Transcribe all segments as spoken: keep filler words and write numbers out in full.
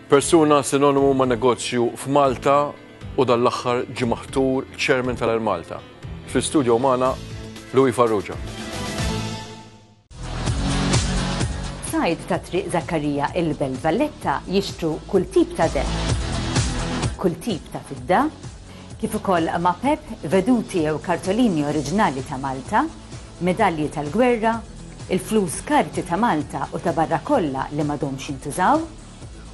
Persuna sinonimu ma' negozju f'Malta u dan l-aħħar ġie maħtur chairman tal-Air Malta. Fl-studio magħna Louis Farrugia. Sajd ta' Triq Zakkarija, il-Belt Valletta, jixtru kull tip ta' deheb, kull tip ta' fidda, kif ukoll mapep, veduti jew kartolini oriġinali ta' Malta, medalji tal-gwerra, il-flus karti ta' Malta u ta' barra kollha li m'għadhomx jintużaw,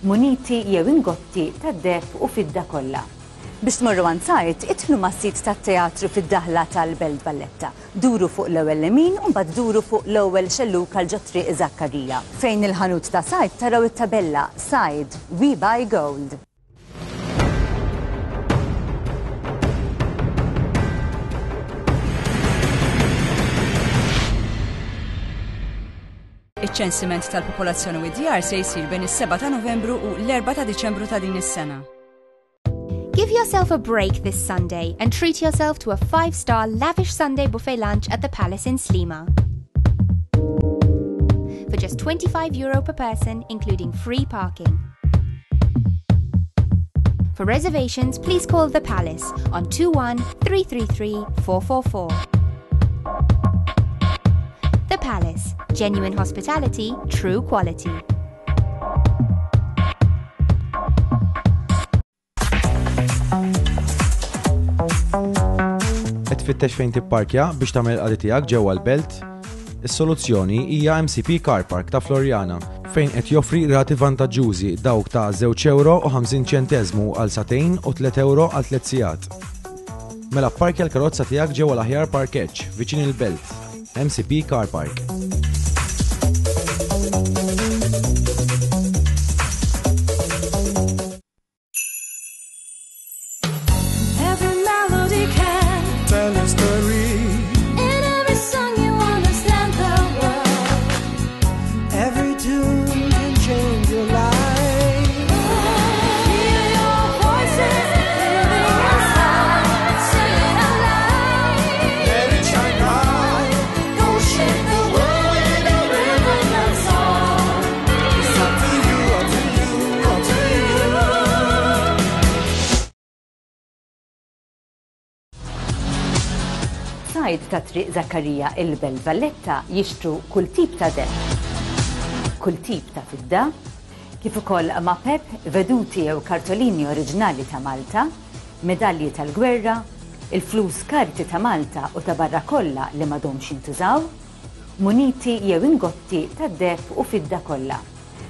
muniti jew ingotti ta' deheb u fidda kollha. Biex tmorru għand Sajd, idħlu mas-sit tat-teatru fid-daħla tal-Belt Valletta. Duru fuq l-ewwel lemin u mbagħad duru fuq l-ewwel xelluk għal ġo Triq Zakkarija. Fejn il-ħanut ta' Sajd taraw it-tabella "Sajd, We Buy Gold". Iċ-ċensiment tal-popolazzjoni u d-djar se jsir bejn is-sebgħa ta' Novembru u l-erbgħa ta' Diċembru ta' din is-sena. Give yourself a break this Sunday and treat yourself to a five-star lavish Sunday buffet lunch at the Palace in Sliema. For just twenty-five euro per person, including free parking. For reservations, please call the Palace on two one three three three four four four. The Palace. Genuine hospitality, true quality. Qed tfittex fejn tipparkja biex tagħmel il-qadi tiegħek ġewwa l-belt? Is-soluzzjoni hija M C P Car Park ta' Floriana, fejn qed joffri rati vantaġġużi, dawk ta' żewġ euro u ħamsin ċenteżmu għal sagħtejn u tliet euro għal tliet sigħat. Mela pparkja l-karozza tiegħek ġewwa l-aħjar parkeġġ viċin il-belt. M C P Car Park. Every melody can tell a story. In every song you understand the world. Every tune can change your life. Hear your voices living inside. Sing it out loud. Let it shine bright. Go shake the world with a rhythm and song. It's up to you, up to you, up to you. Sajd ta' Triq Zakkarija, il-Belt Valletta, jixtru kull tip ta' deheb, kull tip ta' fidda, kif ukoll mapep, veduti jew kartolini oriġinali ta' Malta, medalji tal-gwerra, il-flus karti ta' Malta u ta' barra kollha li m'għadhomx jintużaw, muniti jew ingotti ta' deheb u fidda kollha.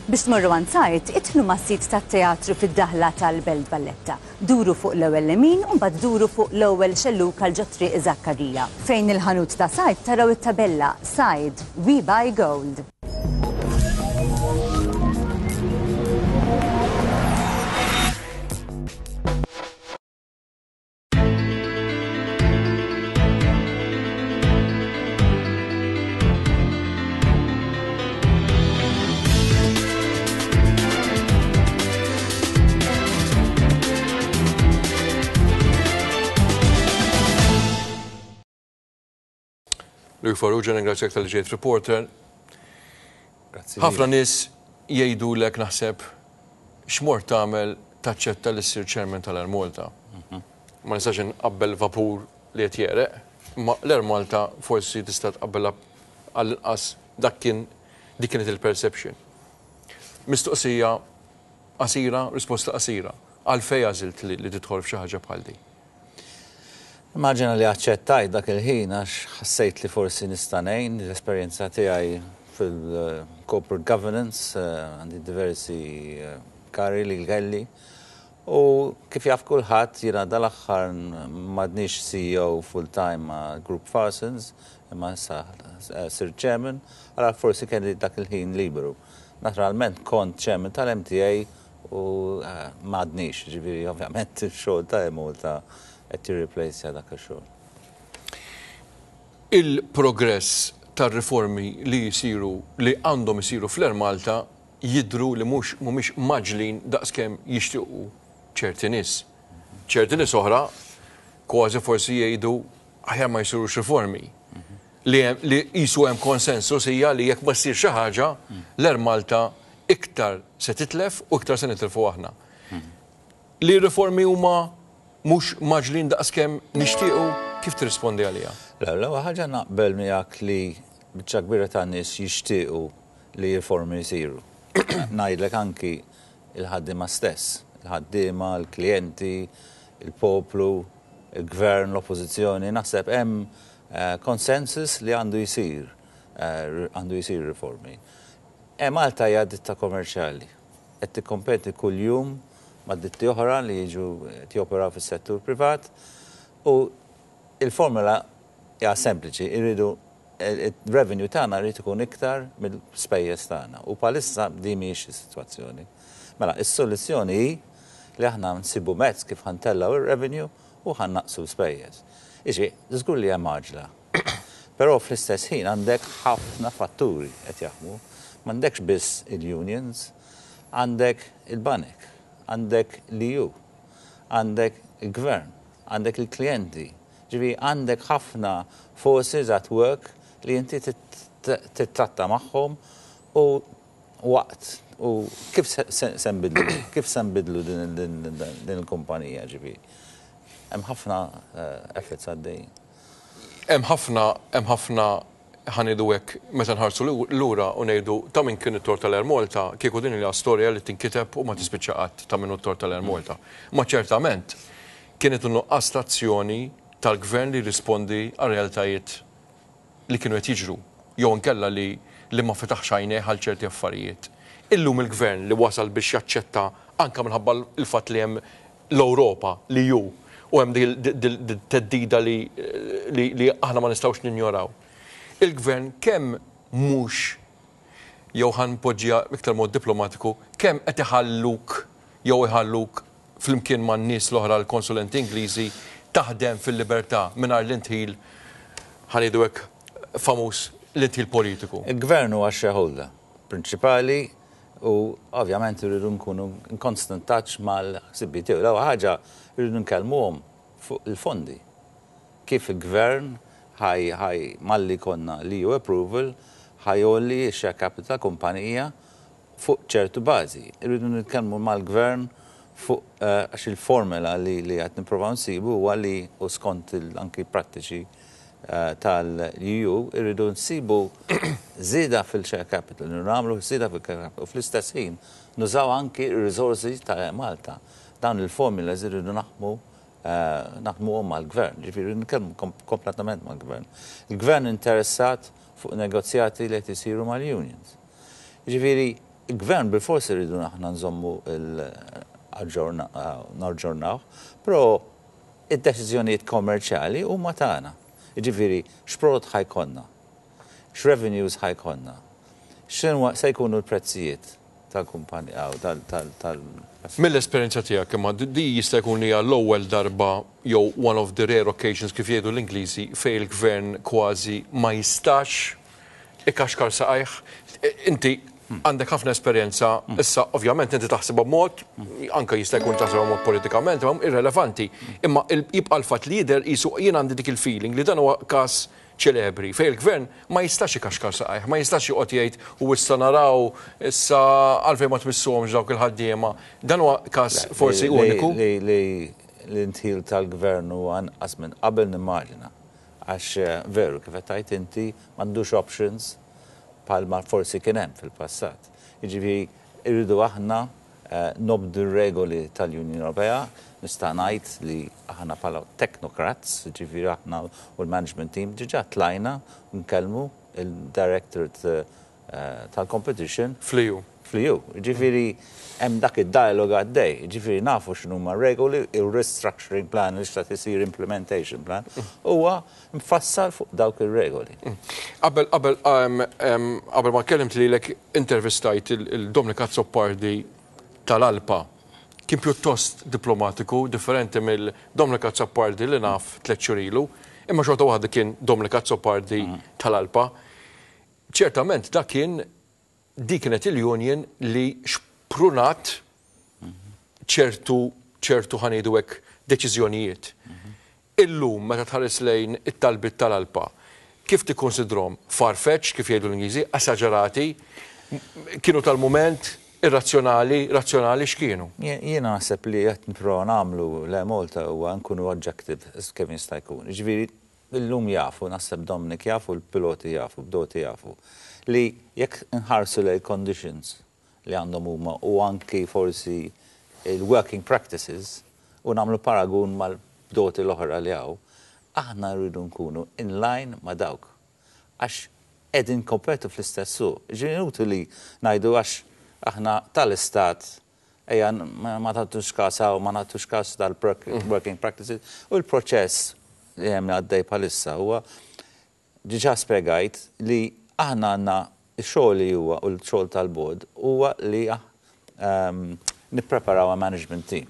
Biex tmorru għand Sajd, idħlu mas-sit tat-teatru fid-daħla tal-Belt Valletta. Duru fuq l-ewwel lemin u mbagħad duru fuq l-ewwel xelluk għal ġo Triq Zakkarija. Fejn il-ħanut ta' Sajd taraw it-tabella "Sajd, We Buy Gold". Louis Farrugia, ningrazzjak talli ġejt Reporter. Grazzi. Ħafna nies jgħidu lek, naħseb, x'mort tagħmel taċċetta li ssir chairman tal-Air Malta. Ma nistax inqabbel vapur li qed jereq, ma l-Air Malta forsi tista' tqabbelha, għall-inqas dak kien dik kienet il-perception. Mistoqsija qasira, risposta qasira. Għalfejn għażilt li, li tidħol f'xi ħaġa bħal di? Immaġina li aċċettajt dak il-ħin għax ħassejt li forsi nista' ngħin l-esperjenza tiegħi fil-corporate governance, eh, għandi diversi eh, karigi li kelli. U kif jaf kulħadd, jiena dal-aħħar m'għadnix C E O full-time ma' Group Farsons, imma issa eh, sirt chairman, għala forsi kelli dak il-ħin liberu. Naturalment kont chairman tal-M T A u m'għadnix, ġifieri ovvjament il-xogħol ta' Malta qed tirreplace dak ix-xogħol. Il-progress tar-riformi li jisiru, li għandhom isiru fl-Air Malta, jidru li mhux mhumiex mgħaġġlin daqskemm jixtiequ ċerti nies. Ċerti nies oħra kważi forsi jgħidu aħjar ma jsirux riformi. Li hemm- li qisu hemm konsensus hija li jekk ma ssir xi ħaġa, l-Air Malta Iktar se titlef u iktar se nitilfu aħna. Li riformi huma mhux mgħaġġlin daqskemm nixtiequ, kif tirrispondi għalija? L-ewwel ħaġa, naqbel miegħek li biċċa kbira ta' nies jixtiequ li riformi jsiru. Ngħidlek anki il-ħaddiema stess, il-ħaddiema, il-klijenti, il-poplu, il-gvern, l-oppożizzjoni, naħseb hemm eh, consensus li għandu jsir, eh, għandu jsir riformi. E Malta hija ditta kommerċjali. Qed tikkompeti kuljum ma' ditti oħra li jiġu joperaw fis-settur privat u il-formula hija sempliċi, irridu il-revenue tagħna jrid ikun iktar mill-spejjeż tagħna. U bħalissa di mhijiex is-sitwazzjoni. Mela, is-soluzzjoni hi li aħna nsibu mezz kif ħa ntellgħu ir-revenue u ħa nnaqqsu l-spejjeż. Iġi, żgur li hemm għaġla. Però fl-istess ħin għandek ħafna fatturi qed jaħdmu. M'għandekx biss il-unions, għandek il-banek, għandek l-E U, għandek il-gvern, għandek il-klijenti. Ġifieri għandek ħafna forces at work li inti titratta magħhom u waqt u kif se nbidlu, kif se nbidlu din il-kumpanija, ġifieri. Hemm ħafna eh, efforts għaddejjin. Hemm ħafna, hemm ħafna, ħa ngħidu hekk, meta nħarsu lura u ngħidu ta' min kien it-tort tal-Air Malta, kieku din hija storja li tinkiteb u ma tispiċċa qatt ta' min it-tort tal-Air Malta. Ma ċertament kienet nuqqas azzjoni tal-gvern li rispondi għal realtajiet li kienu qed jiġru jew inkella li li ma fetaħx għajnejh għal ċerti affarijiet. Illum il-gvern li wasal biex jaċċetta, anka minħabba il-fatt li hemm l-Ewropa li ju u hemm theddida li li aħna ma nistgħux ninjoraw. Il-gvern kemm mhux, jew ħa npoġġiha iktar mod diplomatiku, kemm qed iħalluk jew iħalluk flimkien man-nies l-oħra, l-konsulenti Ingliżi, taħdem fil-libertà mingħajr l-indħil, ħa ngħidu hekk, famuż l-indħil politiku? Il-gvern huwa shareholder prinċipali u ovvjament irridu nkunu in constant touch mal-ħsibijiet tiegħu. L-ewwel ħaġa, irridu nkellmuhom fuq il-fondi. Kif il-gvern ħaj ħaj malli konna l-E U approval ħa jgħolli share capital kumpanija fuq ċertu bażi. Irridu nitkellmu mal-gvern fuq eh, għax il-formula li li qed nipprovaw nsibu huwa li u skont anki prattiċi eh, tal-E U irridu nsibu żieda fil-share capital, nagħmlu żieda fil-share capital u fl-istess ħin nużaw anki il-resources ta' Malta. Dawn il-formulas irridu naħdmu eh, naħdmu mal-gvern, ġifieri nitkellmu kompletament mal-gvern. Il-gvern interessat fuq negozjati li qed isiru mal-unions. Ġifieri, il-gvern bil-forsi rridu aħna nżommu naġġornaw, però id-deċiżjonijiet kommerċjali huma tagħna. Ġifieri, x'prodott ħa jkollna, x'revenues ħa jkollna, x'inhu se jkunu l-prezzijiet tal-kumpanija tal tal Mill-esperjenza tiegħek, imma di jista' jkun hija l-ewwel darba jew one of the rare occasions, kif jgħidu l-Ingliżi, fejn il-gvern kważi ma jistax ikaxkar saqajh. Inti għandek ħafna esperjenza, issa ovvjament inti taħsibha b'mod, anka jista' jkun taħsibha mod politikament, imma irrelevanti. Imma jibqa' l-fatt li jidher qisu, jien għandi dik il-feeling li dan huwa każ ċelebri fejn il-gvern ma jistax ikaxkar saqajh, ma jistax joqgħod jgħid u issa naraw, issa għalfejn ma tmissuhomx dawk il-ħaddiema. Dan huwa każ forsi uniku. Li l-indħil tal-gvern huwa anqas minn qabel nimmaġina. Għax eh, veru kif qed tgħid inti, m'għandux options bħalma forsi kien hemm fil-passat. Jiġifieri irridu aħna eh, nobdu regoli tal-Unjoni Ewropea, nista' ngħid li aħna bħala technocrats, ġifieri aħna u l-management team diġà tlajna nkellmu il-Directorate eh, tal-Competition Fl-E U. Fl-E U. Ġifieri hemm dak id-dialog għaddej, ġifieri nafu x'inhuma regoli, il-restructuring plan li xtaqt isir, implementation plan, huwa mfassal fuq dawk ir-regoli. Qabel qabel qabel ma kellimt lilek intervistajt il-Dominic Azzopardi tal-Alpa. Kien pjuttost diplomatiku, differenti mill-Dominic Azzopardi li naf tliet xhur ilu, imma xorta waħda kien Dominic Azzopardi tal-Alpa. Ċertament dak kien di kienet il-union li xprunat ċertu ċertu ħa ngħidu hekk, deċiżjonijiet. Illum meta tħares lejn it-talbit tal-Alpa, kif tikkonsidrom? Farfetch, kif jgħidu l-Ingliżi, esaġerati, Kienu tal-moment, irrazzjonali, razzjonali, x'kienu? Jiena naħseb li qed nipprova nagħmlu l Malta huwa nkunu objective kemm jista' jkun. Ġifieri illum jafu, naħseb Dominic jafu, l-piloti jafu, bdoti jafu, li jekk nħarsu lejn conditions li għandhom huma u anki forsi il-working practices u nagħmlu paragun mal-bdoti l-oħra li hawn, aħna rridu nkunu in line ma' dawk. Għax qegħdin kompetu fl-istess suq. Ġifieri li ngħidu għax aħna tal-istat ejja ma tagħtux kas u ma nagħtux kas tal-working practices u l-proċess li hemm għaddej bħalissa huwa diġà spjegajt li aħna għandna x-xogħol li huwa u l-xogħol tal-board huwa li um, nippreparaw a management team.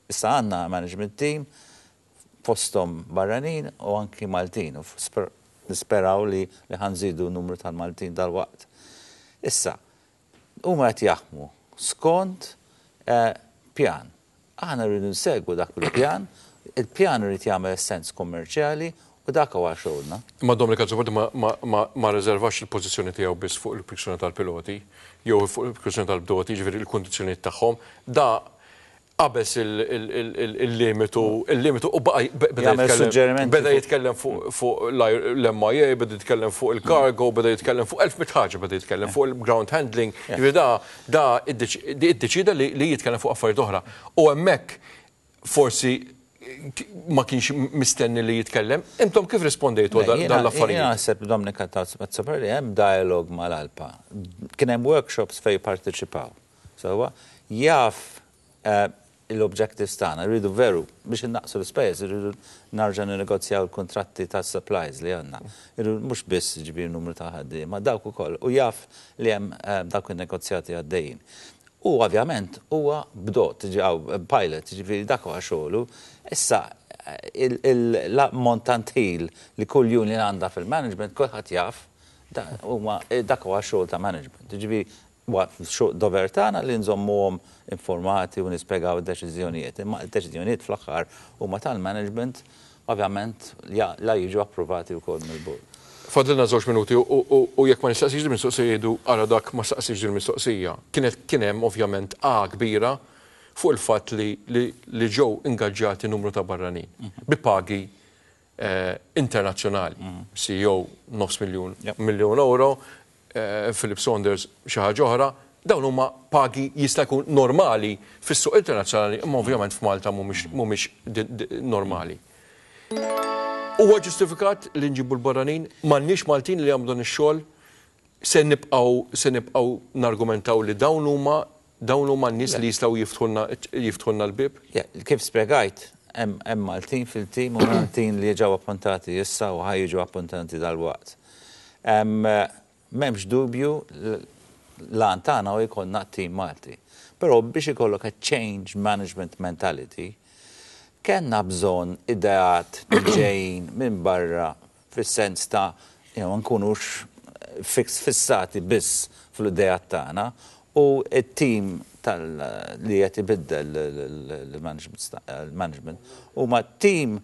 Issa għandna management team fostom barranin u anki Maltin u nisperaw li li ħa nżidu numru tal-Maltin dal-waqt. Issa, huma qed jaħdmu skont eh, pjan. Aħna rridu nsegwu dak il-pjan, il-pjan irid jagħmel sens kommerċjali u dak huwa xogħolna. Ma Dominic Azzopardi ma, ma, ma, ma rezervax il-pożizzjoni tiegħu biss fuq il-kwistjoni tal-piloti jew fuq il-kwistjoni tal-bdoti, ġifieri il-kundizzjonijiet tagħhom. Da qabeż il-limitu il-limitu u baqa beda Jagħmel jitkellem suġġerimenti beda fuq- jitkellem fuq fuq l-M I A, beda jitkellem fuq il-cargo, beda jitkellem fuq elf mitt ħaġa, beda jitkellem fuq il-ground handling. Ġifieri da da iddeċida li li jitkellem fuq affarijiet oħra. U hemmhekk forsi ma kienx mistenni li jitkellem. Intom kif rispondejtu għal dan Jiena l-affarijiet? naħseb, Dominic Azzopardi, hemm dialog mal-ALPA. Kien hemm workshops fej parteċipaw. So, jaf eh, l-objectives tagħna, rridu veru biex innaqsu l-ispejjeż, rridu nerġa' ninnegozjaw il-kontratti ta' supplies li għandna. Irridu mhux biss ġbir numru ta' ħaddiema, dawk ukoll u jaf li hemm eh, dawk in-negozjati għaddejjin. U ovvjament huwa bdot, ġaw pilot, ġifieri dak huwa xogħlu. Issa l-ammont tant ħin li kull union għandha fil-management, kulħadd jaf, huma dak huwa xogħol ta' management. Ġifieri huwa dover tagħna li nżommuhom informati u nispjegaw id-deċiżjonijiet. Imma id-deċiżjonijiet fl-aħħar huma tal-management, ovvjament la jiġu approvati wkoll mill-board. Fadlilna żewġ minuti u jekk ma nistaqsix din mistoqsija jgħidu ara dak ma staqsix din mistoqsija. Kienet kien hemm ovvjament a kbira fuq il-fatt li li ġew ingaġġati numru ta' barranin bi pagi eh, internazzjonali. C E O nofs miljun miljun euro, eh, Philip Saunders xi ħaġa oħra, dawn huma pagi jista' jkun normali fis-suq internazzjonali, imma ovvjament f'Malta mhumiex normali. Huwa ġustifikat li nġibu l-barranin, m'għandniex Maltin li jagħmlu dan ix-xogħol, se nibqgħu se nibqgħu nargumentaw li dawn huma dawn huma n-nies li jistgħu jiftħulna jiftħulna l-bib? Kif spjegajt, hemm Maltin fil-tim u Maltin li ġew appuntati issa u ħa jiġu appuntati dal-waqt. M'hemmx dubju, l-għan tagħna u jkollna tim Malti. Però biex ikollok a change management mentality, kellna bżonn ideat ġejjin minn barra fis-sens ta' you know, nkunux fissati biss fl-ideat tagħna u it-tim tal li qed ibiddel l-management huma tim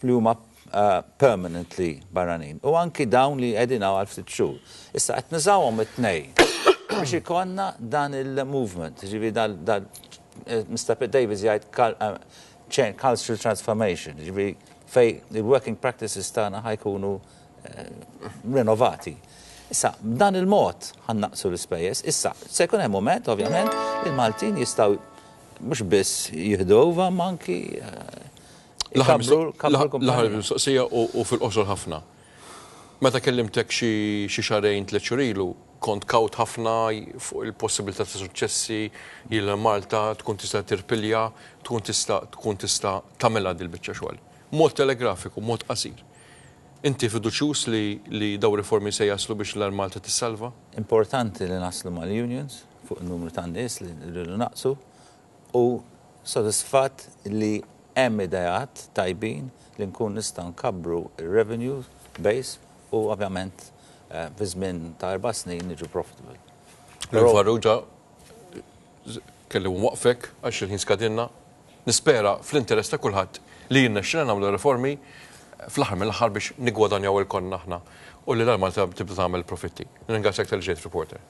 li huma uh, permanently barranin u anki dawn li qegħdin għal ftit xhur. Issa qed nużawhom it-tnejn biex ikollna dan il-movement, ġifieri dal Mister Davis jgħid uh, cultural transformation, ġifieri fej il-working practices tagħna ħa jkunu eh, renovati. Issa, b'dan il-mod ħa nnaqqsu l-ispejjeż. Issa, se jkun hemm moment, ovvjament, il-Maltin jistgħu mhux biss jieħdu over, ma anki eh, L-aħħar mistoqsija u fil-qosor ħafna. Meta kellimtek xi xahrejn, tliet xhur ilu, kont kawt ħafna fuq il-possibilità ta' suċċessi il Malta tkun tista' tirpilja, tkun tista' tkun tista' tagħmilha dil-biċċa xogħol. Mod telegrafiku, mod qasir. Inti fiduċjuż li, li daw riformi se jaslu biex l Malta tissalva? Importanti li naslu mal-unions fuq il-numru ta' nies li rridu naqsu u sodisfatt li hemm ideat tajbin li nkun nistgħu nkabbru il-revenue base u ovvjament eh, fi żmien ta' erba' snin niġu profitable. L-Farrugia kelli waqfek għax il-ħin skadinna. Nispera fl-interess ta' kulħadd li jirnexxina nagħmlu riformi fl-aħħar mill-aħħar biex nigwadanjaw ilkoll aħna u li l-Malta tibda tagħmel profitti. Nirringrazzjak talli ġejt Reporter.